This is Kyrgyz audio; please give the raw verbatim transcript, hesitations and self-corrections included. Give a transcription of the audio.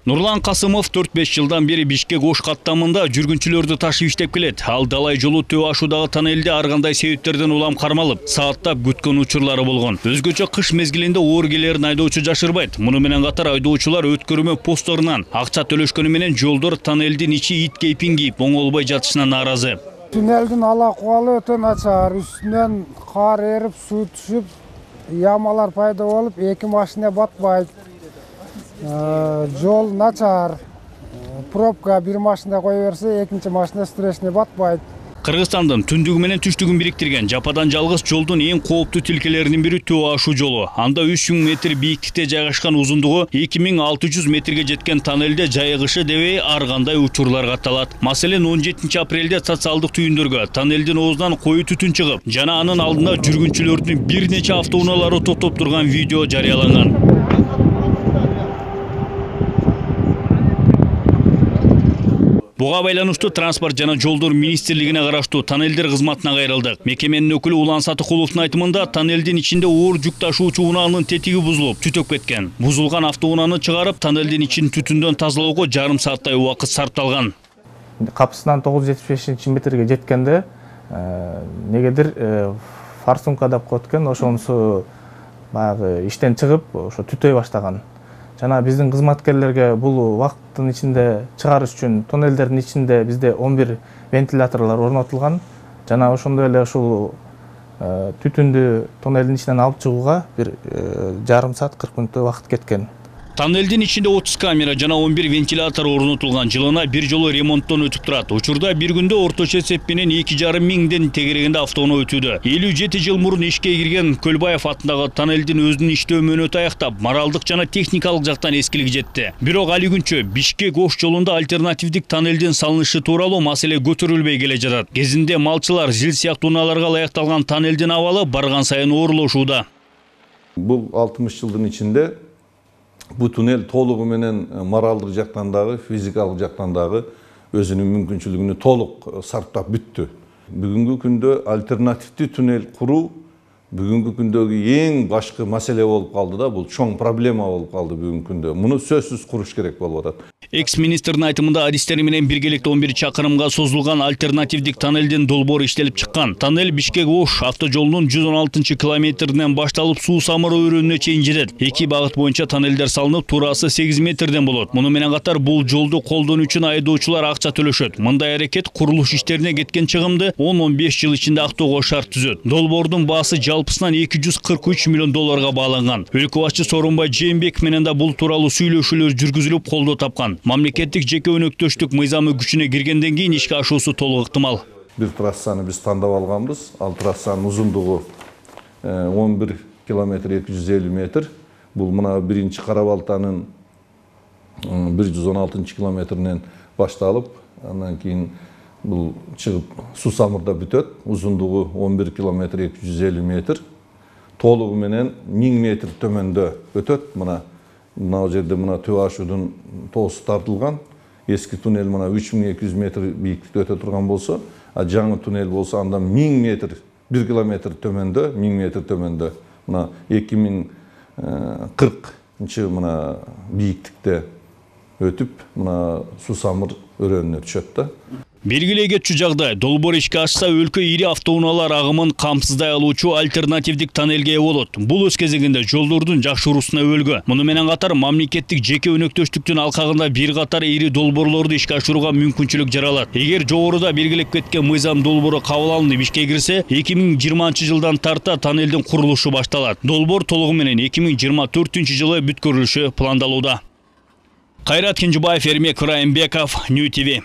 Нурлан Касымов төрт беш жылдан бери Бишкек Ош каттамында жүргүнчүлөрдү ташып иштеп келет. Ал далай жолу төө ашуудагы тоннелде ар кандай себептерден улам кармалып, сааттап күткөн учурлары болгон. Өзгөчө кыш мезгилинде оор келерин айдоочу жашырбайт. Муну менен катар айдоочулар өткөрмө постторунан акча төлөшкөнү менен жолдор тоннелдин ичи ит кейпин кийип оңолбой жатышына нааразы. Туннелдин ала кубалы өтө начар, үстүнөн кар эрип, суу түшүп, ямалар пайда болуп, эки машина батпайт. Жол начар, пробка бир машина кое берсе, экинчи машина стрессине батпайт. Кыргызстандын түндүгү менен түштүгүн бириктирген жападан жалгыз жолдун эң кооптуу тилкелеринин бири төө ашуу жолу. Анда үч миң метр бийиктикте жайгашкан узундугу эки миң алты жүз метрге жеткен тоннелде жайыгышы дебей ар кандай учурлар катталат. Маселен, он жетинчи апрелде социалдык түйүндөргө тоннелдин оозунан коюу түтүн чыгып, жана анын алдында жүргүнчүлөрдүн бир нече автоунаалары топтоп турган видео жарыяланган. Буга байланыштуу транспорт жана жолдор министрлигине караштуу тоннелдер кызматына кайрылдык. Мекеменин өкүлү Улан Сатыкуловдун айтымында, тоннелдин ичинде оор жүк ташуучу унаанын тетиги бузулуп, түтөп кеткен. Бузулган автоунааны чыгарып, тоннелдин ичин түтүндөн тазалоого жарым сааттай убакыт сарпталган. Капысынан тогуз жүз жетимиш бешинчи метрге жеткенде негедир форсунка деп коет экен, ошонусу баягы иштен чыгып, ошо түтөй баштаган. Жана биздин кызматкерлерге бул убакыттын ичинде чыгарыш үчүн тоннелдердин ичинде бизде он бир вентиляторлор орнотулган. Жана ошондой эле ушул түтүндү тоннелдин ичинен алып чыгууга бир жарым саат кырк мүнөттөй убакыт кеткен. Тоннелдин ичинде отуз камера жана он бир вентилятор орнотулган. Жылына бир жолу ремонттон өтүп турат. Учурда бир күндө орточо эсеп менен эки жарым миңден тегерегинде автоунаа өтүүдө. элүү жети жыл мурун ишке кирген Көлбаев атындагы тоннелдин өзүнүн иштөө мөөнөтү аяктап, моралдык жана техникалык жактан эскилик жетти. Бирок али күнчө Бишкек Ош жолунда альтернативдик тоннелдин салынышы тууралуу маселе көтөрүлбөй келе жатат. Кезинде малчылар жил сыяктуу унааларга ылайыкталган тоннелдин абалы барган сайын оорлошууда. Бул алтымыш жылдын ичинде бу туннель толугу менен моралдык жактан дагы, физикалык жактан дагы өзүнүн мүмкүнчүлүгүнү толук сарптап бүттү. Бүгүнкү күндө альтернативдүү туннель куруу бүгүнкү күндөгү эң башкы маселе болуп калды да, бул чоң проблема болуп калды бүгүнкү күндө. Муну сөзсүз куруш керек болуп атат. Экс-министрдин айтымында адистери менен биргеликте он бир чакырымга созулган альтернативдик тоннелдин долбоору иштелип чыккан. Тоннель Бишкек Ош автожолунун жүз он алтынчы километринен башталып суу самыр өрөөнүнө чейин жетет. Эки багыт боюнча тоннелдер салынып, туурасы сегиз метрден болот. Муну менен катар бул жолду колдонуу үчүн айдоочулар акча төлөшөт. Мындай аракет курулуш иштерине кеткен чыгымды он он беш жыл ичинде актоого шарт түзөт. Долбоордун баасы жалпысынан эки жүз кырк үч миллион долларга бааланган. Өлкө башчы Сооронбай Жээнбеков менен да бул тууралуу сүйлөшүүлөр жүргүзүлүп колдоо тапкан. Мамлекеттик жеке өнөктөштүк мыйзамы күчүнө киргенден кийин ишке ашуусу толук ыктымал. Бир трассаны биз тандап алганбыз. Ал трассанын узундугу он бир километр эки жүз элүү метр. Бул мына биринчи Кара-Балтанын бир жүз он алтынчы километринен башталып, андан кийин бул чыгып суу самырда бүтөт. Узундугу он бир километр эки жүз элүү метр. Толугу менен миң метр төмөндө өтөт. Мына мына жерде мына төө ашуудун тоосу тартылган. Эски туннель мына үч миң эки жүз метр бийиктикте өтө турган болсо, а жаңы туннель болсо анда миң метр, бир километр төмөндө, миң метр төмөндө. Мына эки миң кыркынчы мына бийиктикте өтүп, мына суу самыр өрөөнүнө түшөт да. Белгилей кетчү жагдай, долбоор ишке ашса өлкө ири автоунаалар агымын камсыздай алуучу альтернативдик тоннелге ээ болот. Бул өз кезегинде жолдордун жакшыруусуна өлгө. Муну менен катар мамлекеттик жеке өнөктөштүктүн алкагында бир катар ири долбоорлорду ишке ашырууга мүмкүнчүлүк жаралат. Эгер жогоруда белгилеп кеткен мыйзам долбоору кабыл алынып ишке кирсе, эки миң жыйырманчы жылдан тарта тоннелдин курулушу башталат. Долбоор толугу менен эки миң жыйырма төртүнчү жылы бүткөрүлүшү пландалууда. Кайрат Кенжебаев, Эрмек Райымбеков, Нью ти ви.